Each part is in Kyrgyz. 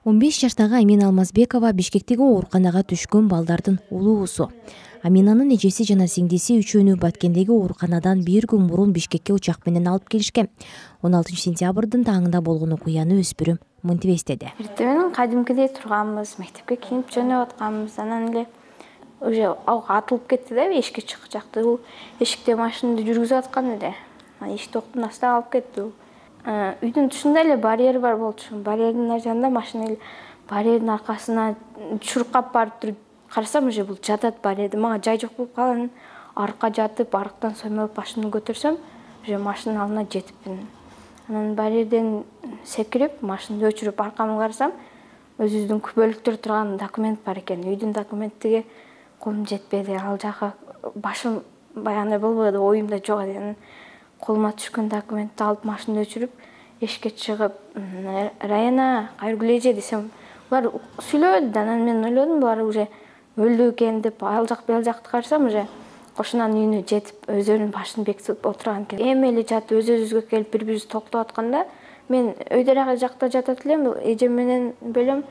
15 жаштагы Амина Алмазбекова Бишкектеги ооруканага түшкөн балдардын улуусу. Аминанын эжеси жана сиңдиси үчөөнү Баткендеги ооруканадан бир күн мурун Бишкекке учак менен алып келишкен. 16 сентябрдын таңында болгон окуяны өспүрүм мынтип эстеди. Эртең кадимкидей турганбыз, мектепке кийинип жөнөп атканбыз. Анан эле уже атылып кетти да, эшикке чыгып жакты. Бул эшикте машинаны жүргүзүп аткан эле. Эшикти октун астына алып кетти. Үйдүн тушунда эле барьер бар болчу. Барьердин жанында машина эле барьердин аркасына чуркап барып туруп карасам, уже бул жатат барьерде. Мага жай жок болуп калган. Аркка жатып, арктан соймолуп машинаны көтөрсөм, уже машинанын алдына жетипмин. Анан барьерден секирип, машинаны өчүрүп аркамды карасам, өзүбүздүн күбөлүктөр турган документ бар экен. Үйдүн документтиге колум жетпеди. Ал жака башым баягындай болбоду, оюмда жок эди. Колума түшкөн документти алып машинаны өчүрүп, эшикке чыгып, Раяна, кайрылгыла эже десем, булар сүйлөбөдү. Анан мен ойлодум, булар уже өлдү экен деп, ал жак бул жакты карасам, уже кошунанын үйүнө жетип, өздөрүнүн башын бекитип отурган экен. Эми эле жатып, өзүбүзгө келип, бири-бирибизди токтоп атканда, мен өйдөрак жакта жатат элем, эжем менен бөлөм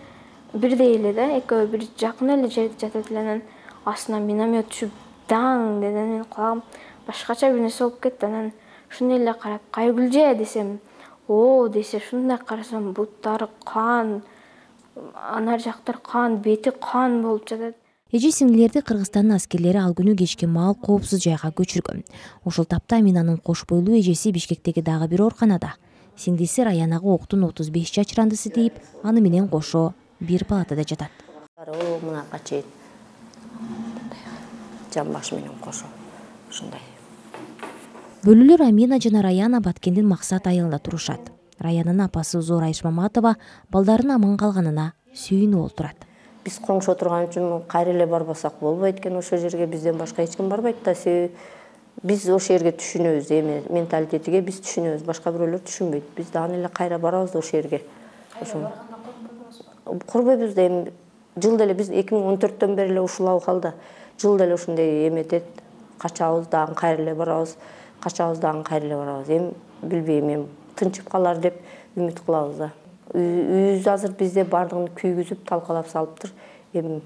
бирдей эле да, экөө бир жакын эле жерде жатат эле. Анан астына миномет түшүп, даң деди. Мен кулагым башкача бир нерсе болуп кетти. Анан шуну эле карап, кайрылгыла десем, о десе, шундай карасам, буттары кан, анар жактар кан, бети кан болуп жатат. Эже сиңдилерди Кыргызстандын аскерлери ал күнү кечки маал коопсуз жайга көчүргөн. Ошол тапта Аминанын кош бойлуу эжеси Бишкектеги дагы бир ооруканада. Сиңдиси Раянага октун 35 жачырандысы тийип, аны менен кошо бир палатада жатат. Мынакка чейин жан башы менен кошо ушундай. Бөлүлөр Амина жана Раяна Баткендин Максат айылында турушат. Раянанын апасы Зор Айш Маматова балдарын аман калганына сүйүнүп олтурат. Биз коңшу отурган үчүн кайра эле барбасак болбойт экен, ошол жерге бизден башка эч ким барбайт да. Биз ошол жерге түшүнөбүз, эми менталитетиге биз түшүнөбүз, башка бирөөлөр түшүнбөйт. Биз дагы эле кайра барабыз ошол жерге. Ошо корбойбуз да, эми жылда эле биз 2014төн бери эле ушул абалда жылда эле ушундай эметет. Качабыз дагы кайра эле барабыз. Качабыз дагы кайра эле барабыз. Эми билбейм, эми тынчып калар деп үмүт кылабыз да. Үйүбүз азыр бизде бардыгын күйгүзүп, талкалап салыптыр. Эми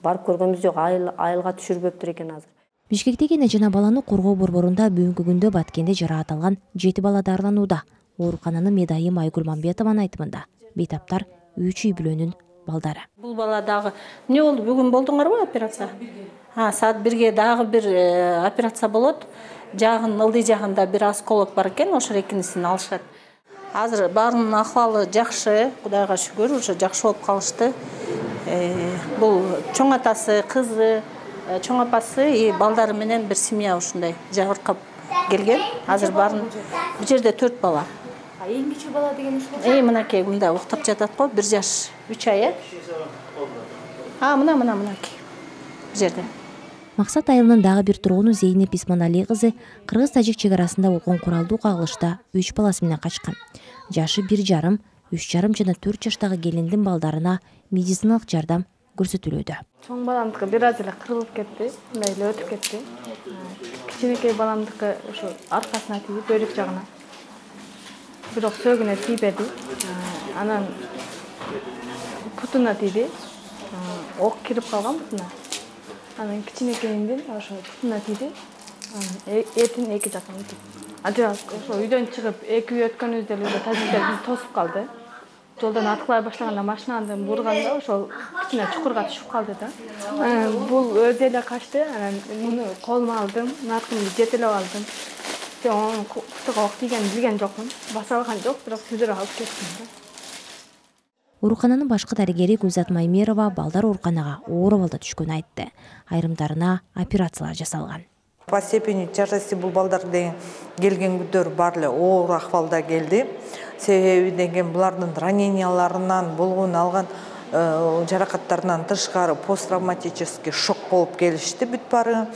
барып көргөнбүз жок, айылга түшүрбөптүр экен азыр. Бишкектеги эне жана баланы коргоо борборунда бүгүнкү күндө Баткенде жараат алган 7 бала дарыланууда. Оорукананын медайым Айгүл Мамбетованын айтымында бейтаптар 3 үй бүлөнүн балдары. Бул бала дагы эмне болду? Бүгүн болдуңарбы операция? Саат 1-ге дагы бир операция болот. Ылдый жагында бир осколок бар экен, ошол экинисин алышат. Азыр баарынын акыбалы жакшы, Кудайга шүгүр, уже жакшы болуп калышты. Бул чоң атасы, кызы, чоң апасы и балдары менен бир семья ушундай жабыркап келген. Азыр баарын бул жерде 4 бала. Эң кичүү бала деген ушул. Мынакей мында уктап жатат го, 1 жаш 3 ай. Мынакей. Бул жерде. Максат айылынын дагы бир тургуну Зейнеп Исманалий кызы Кыргыз-Тажик чек арасында болгон куралдуу кагылышта 3 баласы менен качкан. Жашы 1,5, 3,5 жана 4 жаштагы келиндин балдарына медициналык жардам көрсөтүлүүдө. Чоң баламдыкы бир аз эле кырылып кетти, мындай эле өтүп кетти. Кичинекей баламдыкы ошо аркасына тийип, бөйрөк жагына. Бирок сөөгүнө тийбеди. Анан путуна тийди. Ок кирип калган путуна. Анан кичинекейиндин ошо путуна тийди. Этин эки жактан утуп. Ошо үйдөн чыгып, 2 үй өткөнүбүздө эле тажиктер бизди тосуп калды. Жолдон аткылай башлаганда машинаны бурганда ошол кичине чукурга түшүп калды да. Бул өзү эле качты. Анан муну колума алдым, наркымды жетелеп алдым. Onun kutuğa ok degen bilgen jokмун. Basa algan жок, бирок сүзүрүп алып кеттим да. Оорукананын башкы дарыгери Гүлзат Маймерова балдар ооруканага оор абалда түшкөнүн айтты. Айрымдарына операциялар жасалган. По степени тяжести бул балдар деген келген күндөр бар эле оор акыбалда келди. Себеби деген булардын раненияларынан болгон алган жаракаттарынан тышкары посттравматический шок болуп келишти бүт баары.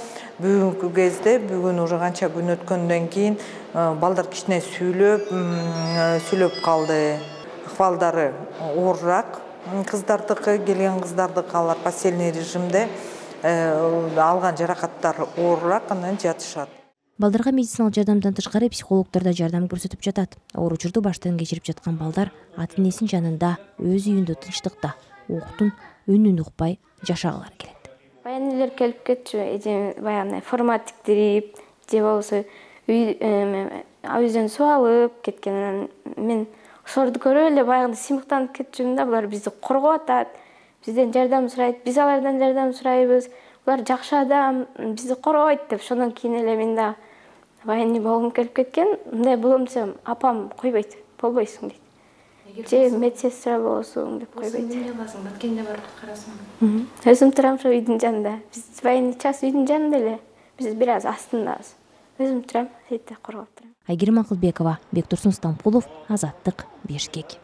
Бүгүнкү кезде бүгүн уже канча күн өткөндөн кийин балдар кичине сүйлөп калды. Акыбалдары оорураак. Кыздардыкы, келген кыздардыкы алар постельный режимде алган жаракаттары оорураак, анан жатышат. Балдарга медициналык жардамдан тышкары психологдор да жардам көрсөтүп жатат. Оор учурду баштан кечирип жаткан балдар ата энесинин жанында, өз үйүндө тынчтыкта, октун үнүн укпай жашагалары келет. Баягы элер келип кетчү, баягы форма тиктирип, же болбосо үйдөн суу алып кеткен. Мен ошолорду көрүп эле баягы сыймыктанып кетчүмүн да. Булар бизди коргоп атат, бизден жардам сурайт, биз алардан жардам сурайбыз. Булар жакшы адам, бизди коргойт деп. Ошондон кийин эле мен да баягы болгум келип кеткен. Мындай болом десем, апам койбойт, болбойсуң дейт. Же медсестра болосуң деп койбойт. Эмне кыласың? Баткенде барып карасың. Өзүм турам ошо үйдүн жанында. Биз баягы час үйдүн жанында эле. Биз бир аз астындабыз. Өзүм турам, сейтте коргоп турам. Айгерим Акылбекова, Бектурсун Стампулов, Азаттык, Бишкек.